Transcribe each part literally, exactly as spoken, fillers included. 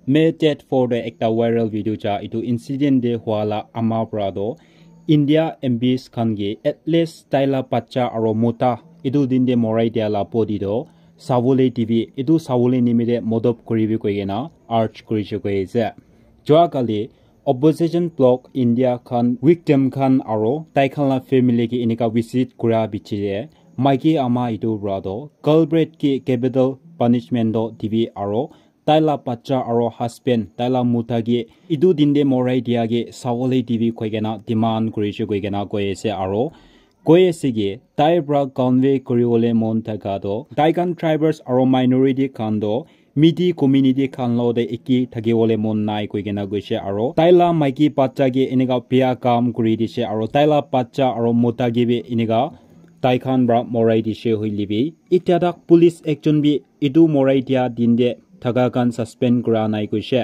May date four te ekta viral video cha, etu incident te hua la ama para toh India M Ps khan ke at least tai la bacha aro mota etu din te morai dia la body toh sabole dibi, etu sabole nimite modop kuribi koi kena urge kurishe koi ase. Jua kali opposition bloc India khan victim khan aro tai khan la family ke enika visit kura bichi te maiki ama etu para toh culprit ke capital punishment toh dibi aro tai la bacha aro husband, tai la mota ke etu din te morai dia ke sabole dibi koi kena demand kurishe koi kena koi ase aro koi ase ke tai para convey kuribole mon thaka toh tai khan tribals aro minority khan toh midi community khan lo te eki thakibole mon nai koi kena koishe aro tai la maiki bacha ke enika bia kam kuri dishe aro tai la bacha aro mota ke bi enika tai khan para morai dishe hoile bi itya tak police action bi etu morai dia din te thaka khan suspend kura nai koishe.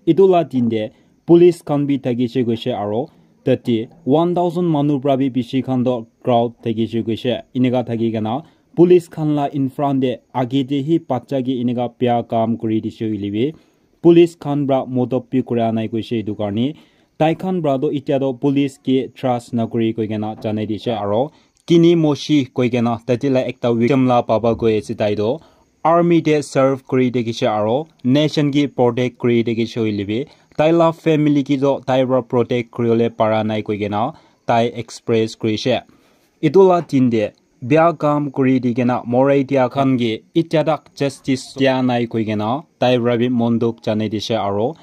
Etu la din te police khan bi thakishe koishe aro tate one thousand manu para bi bishi khan toh crowd thakishe koishe. Enika thaki kena police khan la in front te age te hi bacha ke enika bia kam kuri dishe hoile bi police khan para modop bi kura nai koishe. Etu karne tai khan para toh itya toh police ke trust nakuri koi kena janai dishe aro Kini Moshi koi kena tate la ekta victim la baba koi ase, tai toh army te serve kuri thakishe aro nation ke protect kuri thakishe hoile bi tai la family ke toh tai para protect kuribole para nai koi kena tai express kurishe. Etu la din te bia kam kuri di kena morai dia khan ke itya tak justice dia nai koi kena tai para bi mon dukh janai dishe aro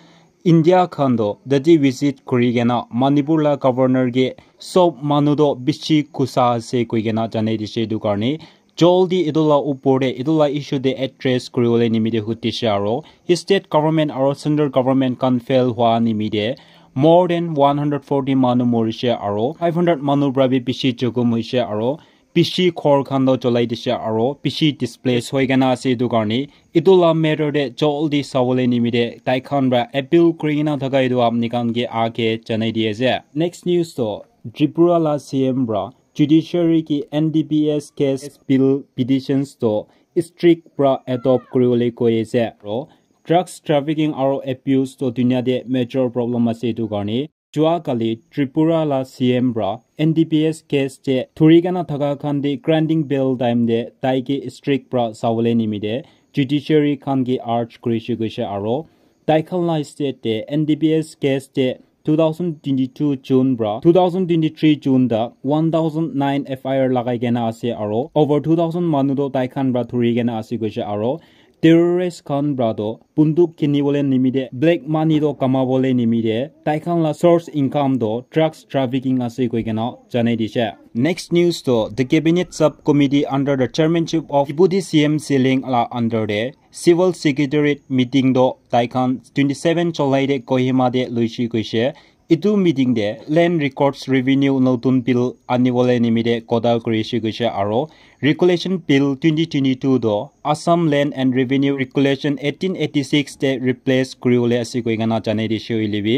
India khan toh tate visit kuri kena Manipur la governor ke sob manu toh bishi gusa ase koi kena janai dishe. Etu karne jaldi etu la upor te etu la issue te address kuribole nimite hudishe aro state government aro central government khan fail hua nimite more than one hundred forty manu morishe aro five hundred manu para bi bishi jokhom hoishe aro bishi ghor khan toh cholai dishe aro bishi displace hoi kena ase. Etu karne etu la matter te jaldi sabole nimite tai khan para appeal kuri kena thaka etu apni khan ke age janai di ase. Next news toh Tripura la C M para judiciary ki N D P S case bill petitions toh strict para adopt kuribole koi ase aro drugs trafficking aro abuse toh dunia te major problem ase. Etu karne jua kali Tripura la C M para N D P S case te thuri kena thaka khan te granting bell time te tai ke strict para sabole nimite judiciary khan ke urge kurishe koishe aro tai khan la state te N D P S case te two thousand twenty-two June para two thousand twenty-three June ta one thousand nine F I R lagai kena ase aro over two thousand manu toh tai khan para thuri kena ase koishe aro terrorist khan para toh bunduk kinibole nimite black money toh kamabole nimite tai khan la source income toh drugs trafficking ase koi kena janai dishe. Next news toh the cabinet subcommittee under the chairmanship of Deputy C M Siling la under te civil secretariat meeting toh tai khan twenty-seven July te Kohima te loishi koishe. Etu meeting te land records revenue notun bill anibole nimite kotha kurishe koishe aro regulation bill twenty twenty-two toh Assam Land and Revenue Regulation eighteen eighty-six te replace kuribole ase koi kena janai dishe hoile bi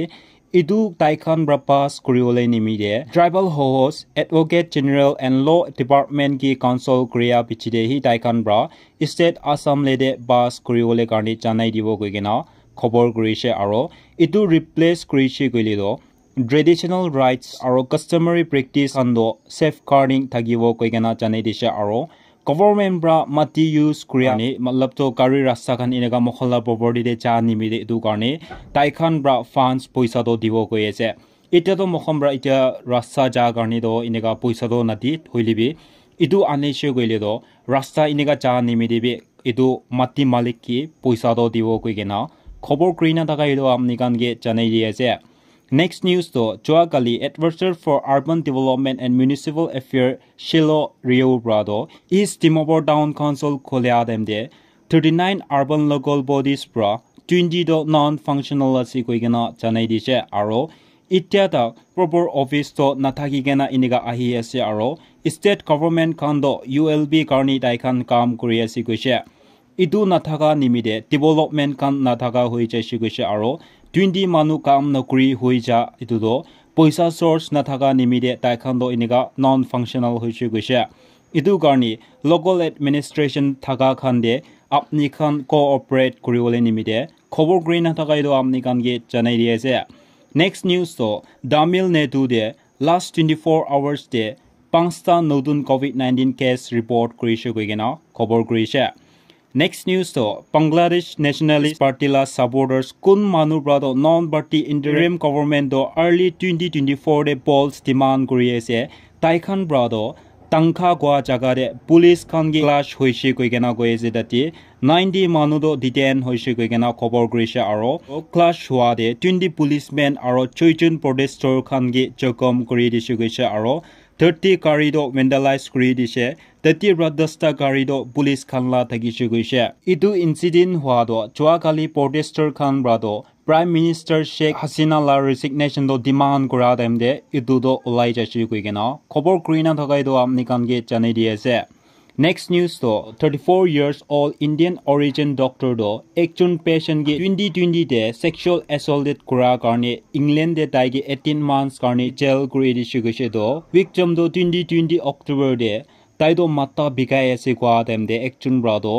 etu tai khan para pass kuribole nimite tribal hohos, advocate general and law department ki counsel kuria piche te hi tai khan para state Assam le te pass kuribole karne janai dibo koi kena khobor kurishe aro etu replace kurishe koile toh traditional rights aro customary practice khan toh safeguarding thakibo koi kena janai dishe aro government para mati use kuri ani matlab toh gari rasta khan eneka moikhan la property te ja nimite etu karne tai khan para funds poisa toh dibo koi ase. Itya toh moikhan para itya rasta ja karne toh eneka poisa toh nadi hoile bi etu anishe koile toh rasta eneka ja nimite bi etu mati malik ke poisa toh dibo koi kena khobor kuri na thaka etu apni khan ke janai di ase. Next news toh jua kali Advisor for Urban Development and Municipal Affairs Shilo Rio para toh East Dimapur Town Council kholia time te thirty-nine urban local bodies para twenty toh non functional ase koi kena janai dishe aro itya ta proper office toh nathaki kena eneka ahi ase aro state government khan toh U L B karne tai khan kam kuri ase koishe. Etu nathaka nimite development khan nathaka hoi jaise koishe aro twenty manu kam nokri hoi ja etu toh poisa source nathaka nimite tai khan toh eneka non functional hoise koishe. Etu karne local administration thaka khan te apni khan cooperate kuribole nimite khobor kuri na thaka etu apni khan ke janai di ase. Next news to Tamil Nadu te last twenty-four hours te panchta notun covid nineteen case report kurishe koi kena khobor kurishe. Next news to Bangladesh Nationalist Party la supporters kun manu pra to non-party interim government to early twenty twenty-four te polls demand kuri ase. Tai khan pra to Tangkha kua jaga te police khan ke clash hoishe koi kena koi ase tate. Ninety manu to detain hoishe koi kena khobor kurishe aro clash hua te twenty policemen aro choi jon protester khan ke jokhom kuri dishe koishe aro thirty gari to vandalize kuri dishe. Tate pra dasta gari to police khan la thakishe koishe. Etu incident hua to jua kali protester khan pra to Prime Minister Sheikh Hasina la resignation to demand kura time te etu to olai jaishe koi kena khobor kuri na thaka etu apni khan ke janai di ase. Next news to thirty-four years old Indian origin doctor to ekjon patient ke twenty twenty te sexual assaulted kura karne England te tai ke eighteen months karne jail kuri dishe koishe to victim to twenty twenty October te tai to matha bikai ase kua time te ekjon pra to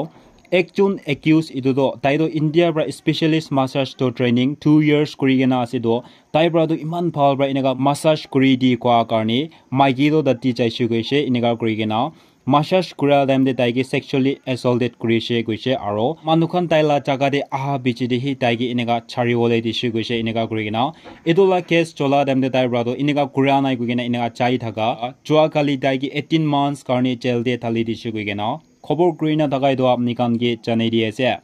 ekjon accused etu to tai to India pra specialist massage to training two years kuri kena ase to tai pra to iman bhal pra eneka massage kuri di kua karne maiki to tate jaishe koishe eneka kuri kena massage kura time te tai ke sexually assaulted kurishe koishe aro manu khan tai la jaga te aha piche te hi tai ke eneka chari bole dishe koishe eneka kuri kena etu la case chola time te tai pra to eneka kura nai koi kena eneka jai thaka jua kali tai ke eighteen months karne jail te thali dishe koi kena khobor kuri na thaka etu apni khan ke janai di ase.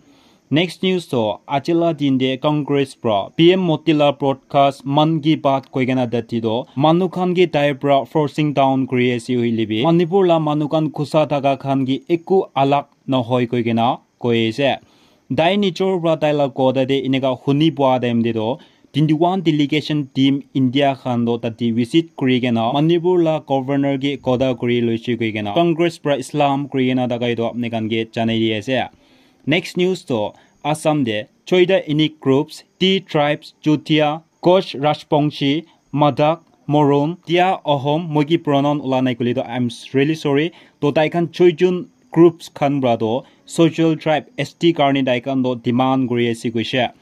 Next news to ajila din te Congress pra P M Modi la broadcast Mann Ki Baat koi kena tate to manu khan ke tai pra forcing down kuri ase hoile bi Manipur la manu khan khusa thaka khan ke eku alag nohoi koi kena koi ase. Tai nijor pra tai la kotha te eneka huni pua time te to twenty-one delegation team India khan to tate visit kuri kena Manipur la governor ke kotha kuri loishe koi kena Congress pra Islam kuri kena thaka etu apni khan ke janai di ase. Next news to Assam te choita ethnic groups, Tea tribes, Chotia, Koch Rajbongshi, Madak, Moron, Tia Ahom, moi ki pronoun ula nai kuli to I'm really sorry. To tai khan choi jun groups khan pra to social tribe S T karne tai khan to demand kuri ase koishe.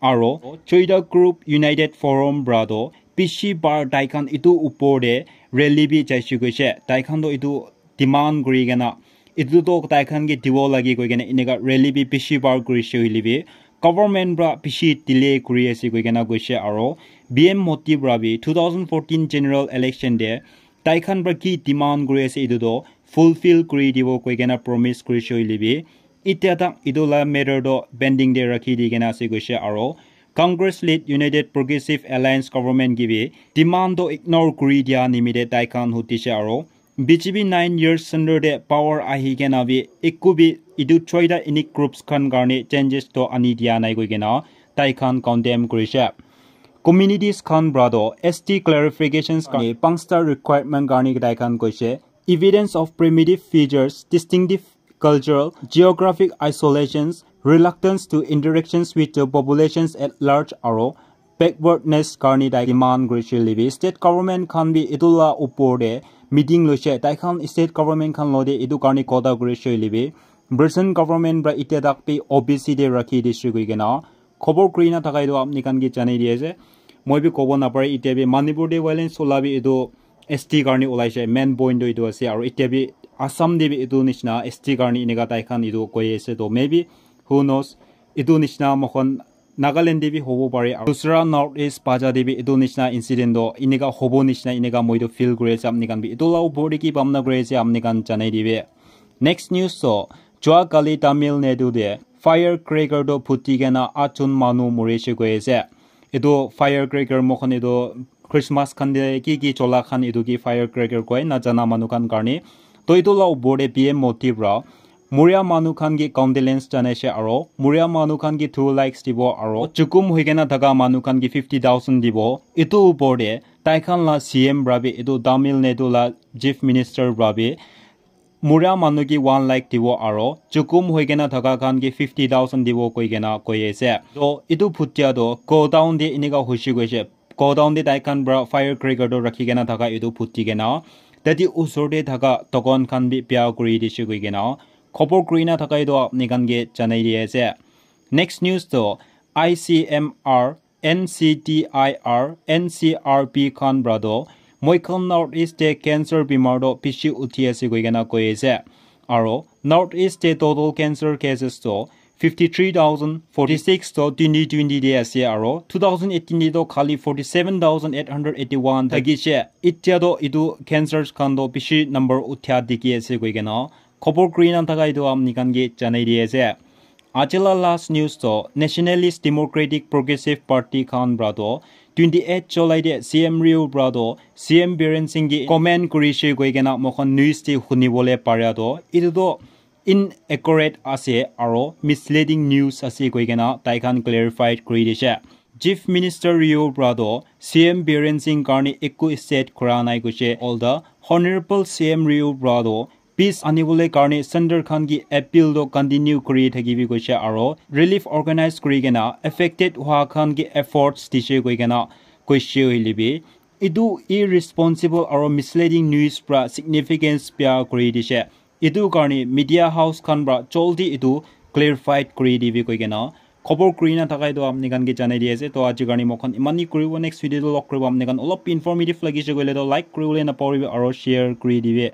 Aro choita group United Forum pra to bishi bar tai khan etu upor te rally bi jaishe koishe. Tai khan to etu demand kuri kena etu to tai khan ke dibo lage koi kena eneka rally bi bishi bar kurishe hoile bi government pra bishi delay kuri ase koi kena koishe aro P M Modi pra bi two thousand fourteen general election te tai khan pra ki demand kuri ase etu to fulfill kuri dibo koi kena promise kurishe hoile bi itya tak etu la matter to pending te rakhi di kena ase koishe aro Congress led United Progressive Alliance government ke bi demand to ignore kuri dia nimite tai khan hutishe aro B J P nine years center te power ahi kena bi eku bi etu choita ethnic groups khan karne changes to ani dia nai koi kena tai khan condemn kurishe. Communities khan pra to S T clarifications karne panchta requirement karne tai khan koishe evidence of primitive features, distinctive cultural, geographic isolations, reluctance to interactions with the populations at large aro backwardness karne tai demand kurishe hoile bi state government khan bi etu la upor te meeting loishe tai khan state government khan lote etu karne kotha kurishe hoile bi present government pra itya tak bi O B C te rakhi dishe koi kena khobor kuri na thaka etu apni khan ke janai di ase. Moi bi kobo napare itya bi Manipur te violence ola bi etu S T karne olaishe main point to etu ase aro itya bi Assam te bi etu nishina S T karne eneka tai khan etu koi ase to maybe who knows etu nishina moikhan Nagaland te bi hobo pare aro dusra North East baja te bi etu nishina incident to eneka hobo nishina eneka moi to feel kuri ase apni khan bi etu la upor te ki bhabna kuri ase apni khan janai dibe. Next news to jua kali Tamil Nadu te firecracker to phuti kena atjon manu morishe koi ase. Etu firecracker moikhan etu Christmas khan te ki ki chola khan etu ki firecracker koi na jana manu khan karne. To etu la upor te P M Modi pra Muria manu khan ke condolence janaishe aro Muria manu khan ke two lakhs dibo aro chukum hoi kena thaka manu khan ke fifty thousand dibo. Etu upor te tai khan la C M pra bi etu Tamil Nadu la chief minister pra bi Muria manu ke one lakh dibo aro chukum hoi kena thaka khan ke fifty thousand dibo koi kena koi ase. To etu phutia to go down te eneka hoishe koishe go down te tai khan pra firecracker to rakhi kena thaka etu phuti kena tate usor te thaka dukan khan bi bia kuri dishe koi kena Khobor kuri na thakai toh apni khan ke janai di ase. Next news toh I C M R, N C T I R, N C R B khan pra toh moi khan North East te cancer bimar toh bishi uthi ase koi kena koi ase. Aro North East te total cancer cases toh fifty three thousand forty six toh twenty twenty te ase, aro two thousand eighteen te toh khali forty seven thousand eight hundred eighty one thakishe. Itya toh etu cancers khan toh bishi number uthia dikhi ase koi kena khobor kuri na thakai toh apni khan ke janai di ase. Aji la last news toh Nationalist Democratic Progressive Party khan pra toh twenty eight July te C M Rio pra toh C M Biren Singh ke comment kuri she koi kena moi khan news te huni bole pare toh etu toh inaccurate ase aro misleading news ase koi kena tai khan clarified kuri dishe. Chief Minister Rio pra toh C M Biren Singh karne ekku state kura nai koishe. All the Honorable C M Rio pra toh peace anibole karne center khan ki appeal toh continue kuri thakibi koishe aro relief organize kuri kena affected hua khan ki efforts dishe koi kena koishe hoile bi etu irresponsible aro misleading news pra significance bia kuri dishe. Etu karne media house khan pra joldi etu clarified kuri dibi koi kena khobor kuri na thakai toh apni khan ke janai di ase. Toh aji karne moi khan iman hi kuribo, next video toh log kuribo. Apni khan olop informative lagise koile toh like kuribole napahoribi aro share kuri dibi.